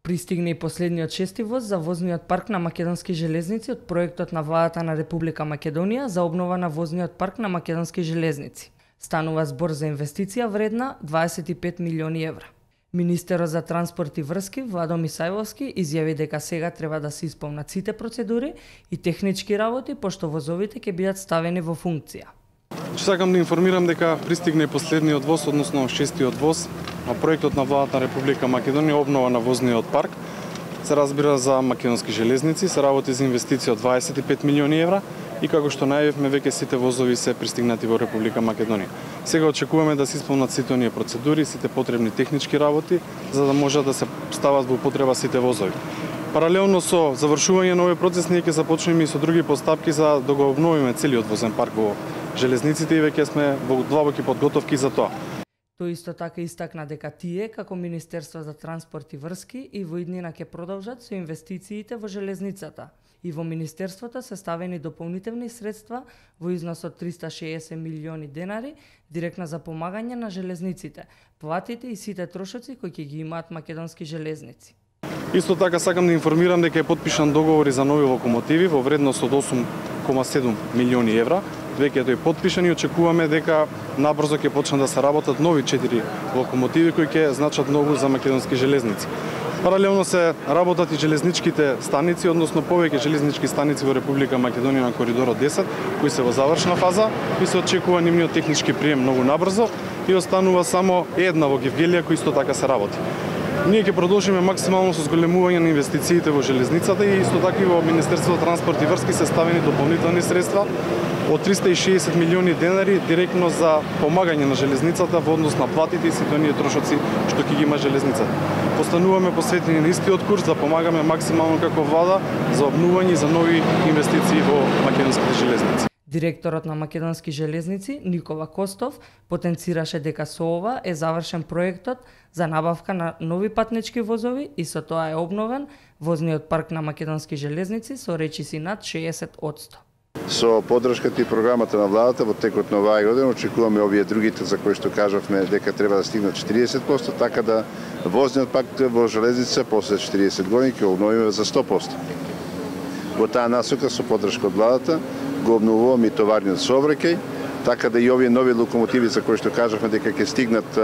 Пристигна и последниот шести воз за возниот парк на Македонски железници од проектот на владата на Република Македонија за обнова на возниот парк на Македонски железници. Станува збор за инвестиција вредна 25 милиони евра. Министерот за транспорт и врски Владо Мисајловски изјави дека сега треба да се исполнат сите процедури и технички работи пошто возовите ќе бидат ставени во функција. Сакам да информирам дека пристигна последниот воз, односно шестиот воз, а проектот на владата на Република Македонија обнова на возниот парк. Се разбира за Македонски железници, се работи за инвестиција од 25 милиони евра и како што најавивме веќе сите возови се пристигнати во Република Македонија. Сега очекуваме да се исполнат сите оние процедури, сите потребни технички работи за да може да се стават во употреба сите возови. Паралелно со завршување на овој процес ние ќе започнеме и со други постапки за да го обновиме целиот возен парк во железниците и веќе сме во длабоки подготовки за тоа. Тој исто така истакна дека тие, како Министерство за транспорт и врски, и во иднина ќе продолжат со инвестициите во железницата. И во Министерството се ставени дополнителни средства во износ од 360 милиони денари директно за помагање на железниците, платите и сите трошоци кои ќе ги имаат Македонски железници. Исто така сакам да информирам дека е подпишан договори за нови локомотиви во вредност од 8,7 милиони евра. Веќе тој подпишан и очекуваме дека набрзо ќе почнат да се работат нови 4 локомотиви кои ќе значат многу за Македонски железници. Паралелно се работат и железничките станици, односно повеќе железнички станици во Република Македонија на коридорот 10, кои се во завршна фаза и се очекува нивниот технички прием многу набрзо и останува само една во Гевгелија кој исто така се работи. Ние ќе продолжиме максимално со зголемување на инвестициите во железницата и исто така и во Министерството за транспорт и врски се ставени дополнителни средства од 360 милиони денари директно за помагање на железницата во однос на платите и сите оние трошоци што ќе ги има железницата. Постануваме посветени на истиот курс да помагаме максимално како влада за обнување и за нови инвестиции во македонските железници. Директорот на Македонски железници Никола Костов потенцираше дека со ова е завршен проектот за набавка на нови патнички возови и со тоа е обновен возниот парк на Македонски железници со речиси над 60%. Со поддршката и програмата на владата во текот на оваа година очекуваме овие другите за кои што кажавме дека треба да стигнат 40%, така да возниот парк во железница после 40 години ќе обновиме за 100%. Во таа насока со поддршка од владата го обновуваме и товарниот сообраќај, така да и овие нови локомотиви за кои што кажавме дека ќе стигнат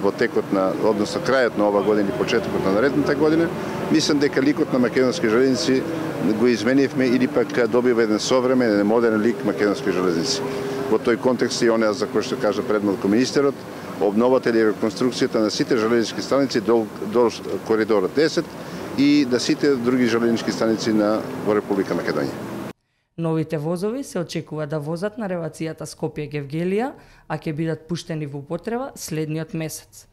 во текот на, односно крајот на оваа година и почетокот на наредната година, мислам дека ликот на Македонски железници го изменивме или пак добива еден современ, модерен лик Македонски железници. Во тој контекст и онеа за кој што кажа предмалку министерот, обновата или реконструкцијата на сите железнички станици до коридорот 10 и на сите други железнички станици во Република Македонија. Новите возови се очекува да возат на релацијата Скопје-Гевгелија, а ќе бидат пуштени во употреба следниот месец.